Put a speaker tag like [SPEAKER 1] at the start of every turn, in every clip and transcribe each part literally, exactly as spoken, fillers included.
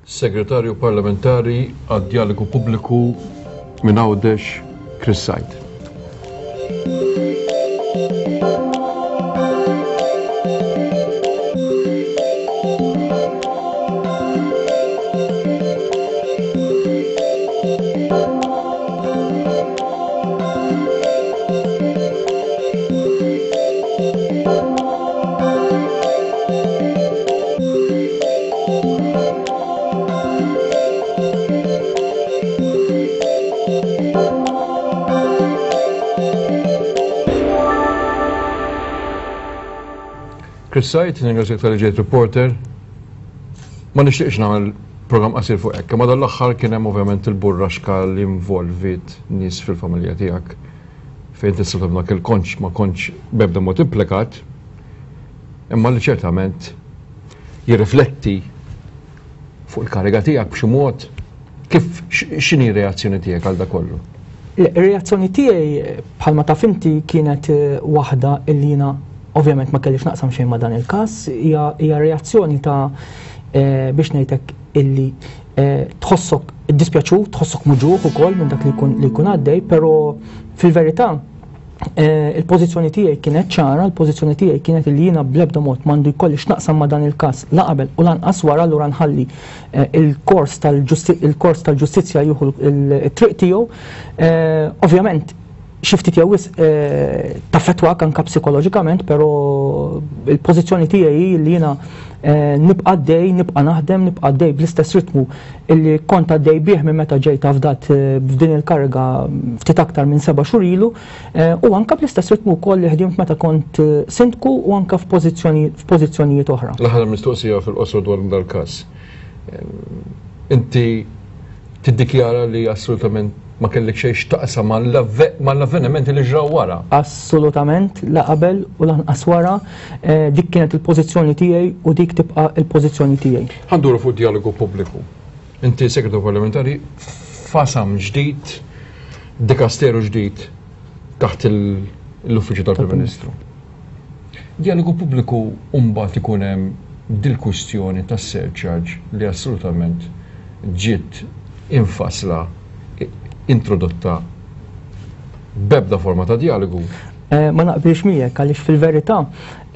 [SPEAKER 1] Segretarju Parlamentari għad-Djalogu Pubbliku minn Għawdex, Chris Said. Chris Said, ningrazzjak tal ġejt reporter. Ma nixtieqx nagħmel programm qasir fuq hekk, imma dan l-aħħar kien hemm ovvjament il-burraxka li involvit nies fil-familja tiegħek fejn tista' dak il-konċ ma kontx b'ebda mod implikat, imma li ċertament jirrifletti fuq il-kariga tiegħek b'xi mod. Kif x'inhi r-reazzjoni tiegħek għal dak kollu?
[SPEAKER 2] Ir-reazzjoni tiegħi bħalma taf inti kienet waħda illi jiena ovvjament ma kellix naqsam xejn ma' dan il-każ, hija reazzjoni ta' biex ngħidlek illi tħossok iddispjaċut, tħossok muġugħ ukoll minn dak li jkun li jkun għaddej, però fil-verità il-pożizzjoni tiegħi kienet ċara, il-pożizzjoni tiegħi kienet illi jiena bl-ebda mod m'għandu jkolli x'naqsam ma' dan il-każ la qabel u lanqas wara, allura nħalli il-kors tal-kors tal-ġustizzja jieħu t-triq tiegħu. Ovvjament xi ftit jew wisq taffettwak anke psikoloġikament, però il-pożizzjoni tiegħi hi li jiena nibqa' għaddej, nibqa' naħdem, nibqa' għaddej bl-istess ritmu illi kont għaddej bih minn meta ġejt afdat f'din il-kariga ftit aktar minn seba' xhur ilu, u anke bl-istess ritmu wkoll li ħdimt meta kont sindku u anke f'pożizzjonijiet oħra.
[SPEAKER 1] L-aħħar mistoqsija fil-qosor dwar dal-każ. Inti tiddikjara li assolutament ma kellek xejn x'taqsam mal-avvenimenti li ġraw wara?
[SPEAKER 2] Assolutament, la qabel u lanqas wara, dik kienet il-pożizzjoni tiegħi u dik tibqa' il-pożizzjoni tiegħi.
[SPEAKER 1] Ħa nduru fuq dialogu pubbliku. Inti segretarju parlamentari f'qasam ġdid, dikasteru ġdid taħt l-uffiċċju tal-Prim Ministru. Dialogu pubbliku mbagħad ikun hemm dil-kwistjoni tas-surcharge li assolutament ġiet infasla, introdotta b'ebda forma ta' dialogu.
[SPEAKER 2] Ma naqbilx miegħek għaliex fil-verità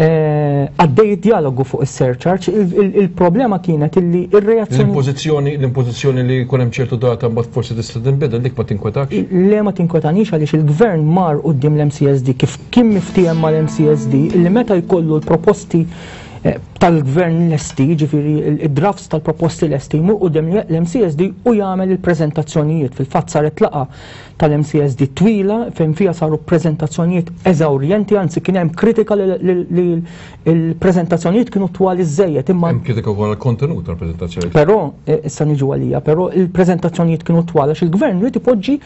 [SPEAKER 2] għaddej id-dialogu fuq is-surcharge, il-problema kienet illi ir-reazzjoni
[SPEAKER 1] L-impożizzjoni, l-impożizzjoni li jkun hemm ċertu data mbagħad forsi tista' tinbidel, dik ma tinkwetax?
[SPEAKER 2] Le, ma tinkwetanix għaliex il-gvern mar quddiem l-M C S D kif kien miftiehem mal-M C S D illi meta jkollu l-proposti tal-gvern lesti, ġifieri id-drafts tal-proposti lesti, jmur quddiem l-M C S D u jagħmel il-preżentazzjonijiet. Fil-fatt saret laqgħa tal-M C S D twila fejn fiha saru preżentazzjonijiet eżawrjenti, anzi kien hemm kritika li l-preżentazzjonijiet kienu twal iżżejjed. Imma
[SPEAKER 1] hemm kritika wkoll għall-kontenut tal-preżentazzjonijiet.
[SPEAKER 2] Però, issa niġu għalija, però il-preżentazzjonijiet kienu twal għax il-gvern irid ipoġġi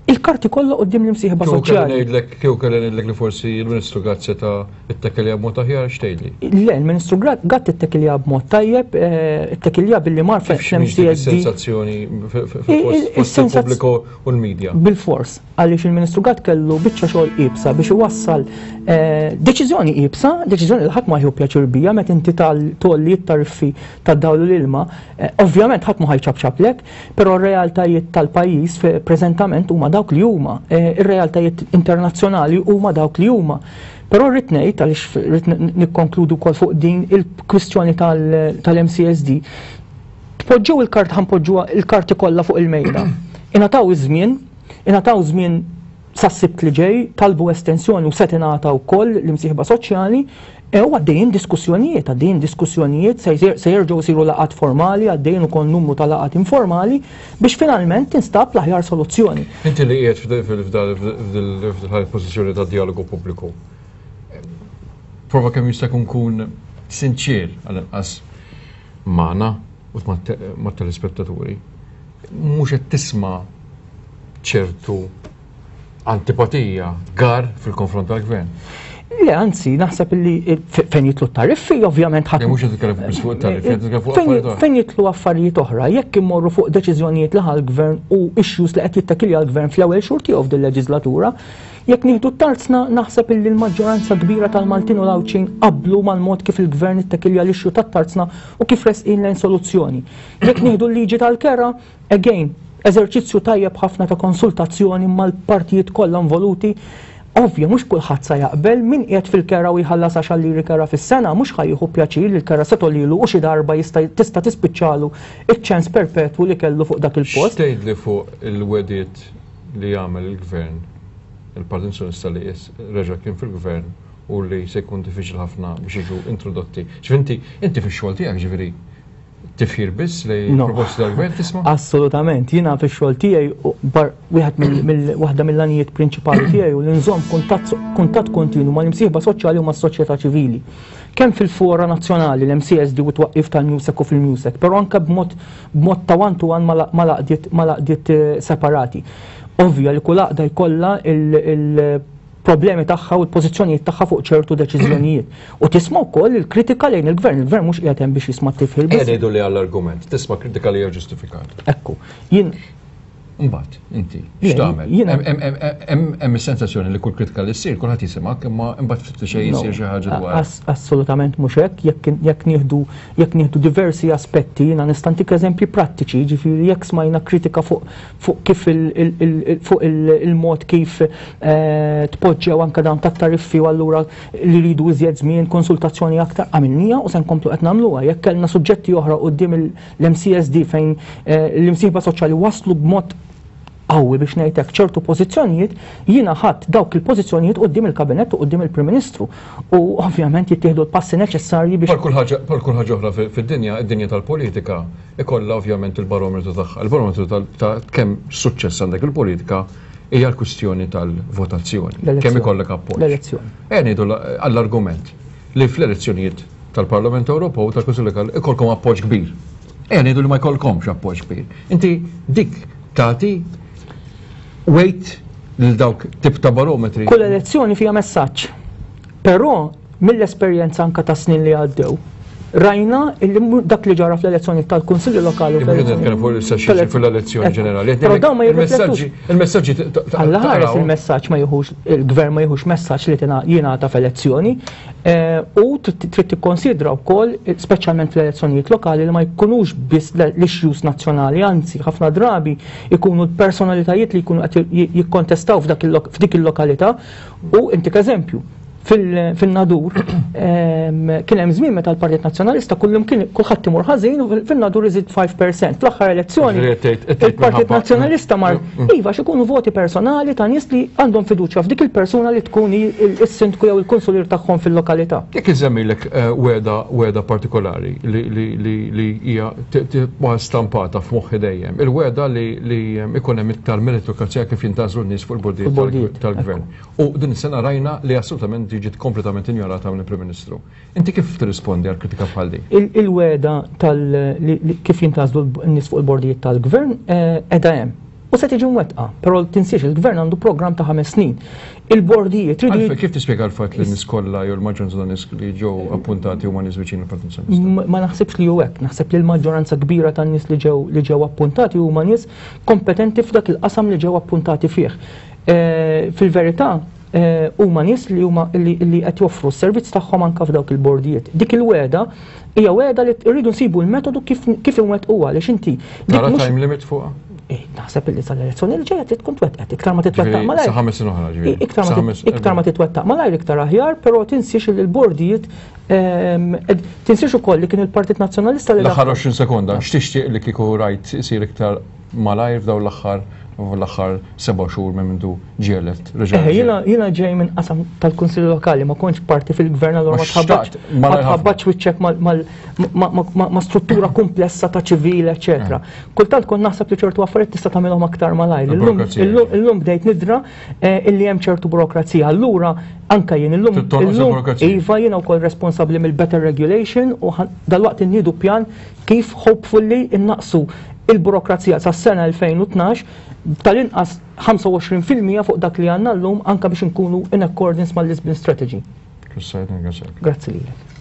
[SPEAKER 2] il-karti kollha quddiem l-imsieħba
[SPEAKER 1] Kieku kelli
[SPEAKER 2] soċjali.
[SPEAKER 1] ngħidlek, kieku kelli ngħidlek li forsi l-Ministru Gatt seta' ittekkelja b'mod aħjar, x'tgħidli?
[SPEAKER 2] Le, il-Ministru Gatt ittekkelja b'mod tajjeb, ittekkelja billi mar
[SPEAKER 1] Kif
[SPEAKER 2] fl-M
[SPEAKER 1] x'mhix
[SPEAKER 2] C
[SPEAKER 1] dik
[SPEAKER 2] S D.
[SPEAKER 1] is-sensazzjoni
[SPEAKER 2] I-,
[SPEAKER 1] fost il-pubbliku u l-medja?
[SPEAKER 2] Bil-fors, għaliex il-Ministru Gatt kellu biċċa xogħol iebsa biex iwassal deċiżjoni iebsa, deċiżjoni li ħadd ma jieħu pjaċir bija meta inti tolli t-tariffi tad-dawl u l-ilma, ovvjament ħadd ma ħajċabċablek, però r-realtajiet tal-pajjiż preżentament huma dawk li huma, ir-realtajiet internazzjonali huma dawk li huma. Però rrid ngħid, għaliex rrid nikkonkludu wkoll fuq din il-kwistjoni tal-M C S D, tpoġġew il-kart, ħanpoġġuha il-karti kollha fuq il-mejda. Ingħataw iż-żmien, ingħataw żmien sas-Sibt li ġej, talbu estensjoni u se tingħata wkoll l-imsieħba soċjali, e u għaddejjin diskussjonijiet, għaddejjin diskussjonijiet, se jsir, se jerġgħu jsiru laqgħat formali, għaddejjin ukoll numru ta' laqgħat informali biex finalment tinstab l-aħjar soluzzjoni.
[SPEAKER 1] Inti li qiegħed f'dil pożizzjoni ta' dialogu pubbliku, prova kemm jista' jkun kun sinċir għall-inqas magħna u mat-telespettaturi, mhux qed tisma' ċertu antipatija, gar fil-konfront tal-gvern.
[SPEAKER 2] Le, anzi, naħseb li fejn jidħlu tariffi, ovvjament ħadd.
[SPEAKER 1] Mhux qed titkellem fuq tariffi, qed titkellem fuq affarijiet oħra.
[SPEAKER 2] Fejn jidħlu affarijiet oħra, jekk immorru fuq deċiżjonijiet li ħa l-gvern u issues li qed jittakilja l-gvern fl-ewwel xhur tiegħu f'din leġislatura, jekk nieħdu tarzna, naħseb illi l-maġġoranza kbira tal-Maltin u l-Għawdxin qablu mal-mod kif il-gvern ittakilja l-issue tat-tarzna u kif resqin lejn soluzzjoni. Jekk nieħdu l-liġi tal-kera, again, eżerċizzju tajjeb ħafna ta' konsultazzjoni mal-partijiet kollha involuti. Ovvja, mhux kulħadd sa jaqbel. Min qiegħed fil-kera u jħallas għaxar liri kera fis-sena mhux ħa jieħu pjaċir li l-kera se togħlilu u xi darba jista' tista' tispiċċalu iċ-ċens perpetwu li kellu fuq dak il-post.
[SPEAKER 1] X'tgħidli fuq il-wegħdiet li jagħmel il-gvern, il-Partit Nazzjonalista li reġa' kien fil-gvern, u li se jkun diffiċli ħafna biex jiġu introdotti? Ġifieri inti fix-xogħol tiegħek, ġifieri, tifħir biss li proposti tal-gvern tisma'?
[SPEAKER 2] Assolutament, jiena fix-xogħol tiegħi wieħed mill waħda mill-għanijiet prinċipali tiegħi u li nżomm kuntatt kontinu mal-imsieħba soċjali u mas-soċjetà ċivili. Kemm fil-fora nazzjonali, l-M C S D u twaqqif tal-MEUSAC u fil-MEUSAC, però anke b'mod b'mod ta' one to one mal-għaqdiet eh, separati. Ovvja li kull għaqda jkollha il- problemi tagħha u l-pożizzjonijiet tagħha fuq ċertu deċiżjonijiet. U tisma' wkoll il-kritika lejn il-gvern. Il-gvern mhux qiegħed hemm biex jisma' tifħir
[SPEAKER 1] biss. Ngħidu li għall-argument, tisma' kritika li hija ġustifikata.
[SPEAKER 2] Ekku. Jien
[SPEAKER 1] Mbagħad, inti, x'tagħmel? Hemm is-sensazzjoni li kull kritika li ssir kulħadd jisimgħek, imma imbagħad ftit xejn jsir xi ħaġa dwar.
[SPEAKER 2] Assolutament mhux hekk, jekk nieħdu jekk nieħdu diversi aspetti, jiena nista' ntik eżempji prattiċi, jiġifieri jekk smajna kritika fuq fuq kif fuq il-mod kif eh, tpoġġew anke dawn tat-tariffi u allura li rridu iżjed żmien, konsultazzjoni aktar, għamilnija u se nkomplu qed nagħmluha. Jekk kellna suġġetti oħra quddiem l-M C S D fejn eh, l-imsieħba soċjali waslu b'mod qawwi, biex ngħidlek, ċertu pożizzjonijiet, jiena ħadt dawk il-pożizzjonijiet quddiem il-kabinett u quddiem il-Prim Ministru. U ovvjament jittieħdu l-passi neċessarji biex.
[SPEAKER 1] Bħal kull ħaġa oħra fid-dinja, id-dinja tal-politika ikollha ovvjament il-barometru tagħha. Il-barometru ta' kemm suċċess għandek il-politika hija l-kwistjoni tal-votazzjoni. Kemm ikollek appoġġ.
[SPEAKER 2] L-elezzjoni.
[SPEAKER 1] E ngħidu għall-argument li fl-elezzjonijiet tal-Parlament Ewropew u tal-Kunsill Lokali ikolkom appoġġ kbir. E ngħidu li ma jkollkomx appoġġ kbir. Inti dik tagħti weight lil dawk tip ta' barometri?
[SPEAKER 2] Kull elezzjoni fija messaġġ. Però mill-esperjenza anka ta' snin li għaddew, rajna illi dak li ġara fl-elezzjoni tal-Kunsilli Lokali.
[SPEAKER 1] Fil-elezzjoni ġenerali.
[SPEAKER 2] Però dawn ma jirriflettux.
[SPEAKER 1] Il-messaġġi.
[SPEAKER 2] Alla ħares il-messaġġ ma jieħux, il-gvern ma jieħux messaġġ li jingħata f'elezzjoni eh, u trid tikkonsidra wkoll, speċjalment fl-elezzjonijiet lokali, li ma jkunux biss l-issues nazzjonali, anzi ħafna drabi ikunu l-personalitajiet li jkunu qed jikkontestaw f'dik il-lokalità. U intik eżempju, fil-Nadur kien hemm żmien meta l-Partit Nazzjonalista kullum kien kulħadd imur ħażin u fil-Nadur iżid ħamsa fil-mija. Fl-aħħar elezzjoni il-Partit Nazzjonalista mar, mm, mm. iva, x'ikunu voti personali ta' nies li għandhom fiduċja f'dik il-persuna li tkun is-sindku jew il-kunsulir tagħhom fil-lokalità.
[SPEAKER 1] Jekk iżemmilek eh, wegħda wegħda partikolari li hija tibqa' stampata f'moħħi dejjem, il-wegħda li ikun hemm iktar meritokrazija kif jintgħażlu n-nies fuq il-bordijiet tal-gvern. U din is-sena rajna li assolutament ġiet kompletament injorata mill-Prim Ministru. Inti kif tirrispondi għal kritika bħal din?
[SPEAKER 2] Il-wegħda tal kif jintgħażlu n-nies fuq il-bordijiet tal-gvern qiegħda hemm. U se tiġi mwettqa, però tinsiex, il-gvern għandu programm ta' ħames snin. Il-bordijiet
[SPEAKER 1] tridu. Kif tispjega l-fatt li n-nies kollha jew l-maġġoranza ta' nies li ġew appuntati huma nies viċin il-Partit
[SPEAKER 2] Nazzjonalista? Ma naħsibx li hu hekk, naħseb li l-maġġoranza kbira tan nies li ġew li ġew appuntati huma nies kompetenti f'dak il-qasam li ġew appuntati fih. Eh, fil-verità eh, huma nies li huma li qed joffru s-servizz tagħhom anke f'dawk il-bordijiet. Dik il-wegħda hija wegħda li rridu nsibu l-metodu kif kif inwettquha, għaliex inti.
[SPEAKER 1] Tara time limit fuqha?
[SPEAKER 2] Eh, naħseb li sal-elezzjoni li ġejja tkun twettqet, iktar ma titwettaq
[SPEAKER 1] malajr. Sa ħames oħra,
[SPEAKER 2] ġifieri. Iktar ma titwettaq malajr, iktar aħjar, però tinsiex li l-bordijiet, ehm, tinsiex ukoll li kien il-Partit Nazzjonalista
[SPEAKER 1] li. L-aħħar għoxrin sekonda, x'tixtieq li kieku rajt isir iktar malajr f'dawn l-aħħar l-aħħar seba' xhur minn mindu ġie elett?
[SPEAKER 2] Eh, jiena ġej minn qasam tal-Kunsilli Lokali, ma kontx parti fil-gvern, allura ma tħabbatx wiċċek ma' struttura komplessa ta' ċivili, eċetera. Eh. Kultant kont naħseb li ċertu affarijiet tista' tagħmilhom aktar malajr. Illum bdejt nidra eh, illi hemm ċertu burokrazija. Allura anka jien illum iva, jiena wkoll responsabbli mill-better regulation u dalwaqt inniedu pjan kif hopefully innaqsu il-burokrazija sas-sena elfejn u tnax tal-inqas ħamsa u għoxrin fil-mija fuq dak li għandna llum, anka biex nkunu in accordance mal-Lisbon Strategy.
[SPEAKER 1] Chris Said, ringrazzjak.
[SPEAKER 2] Grazzi lilek.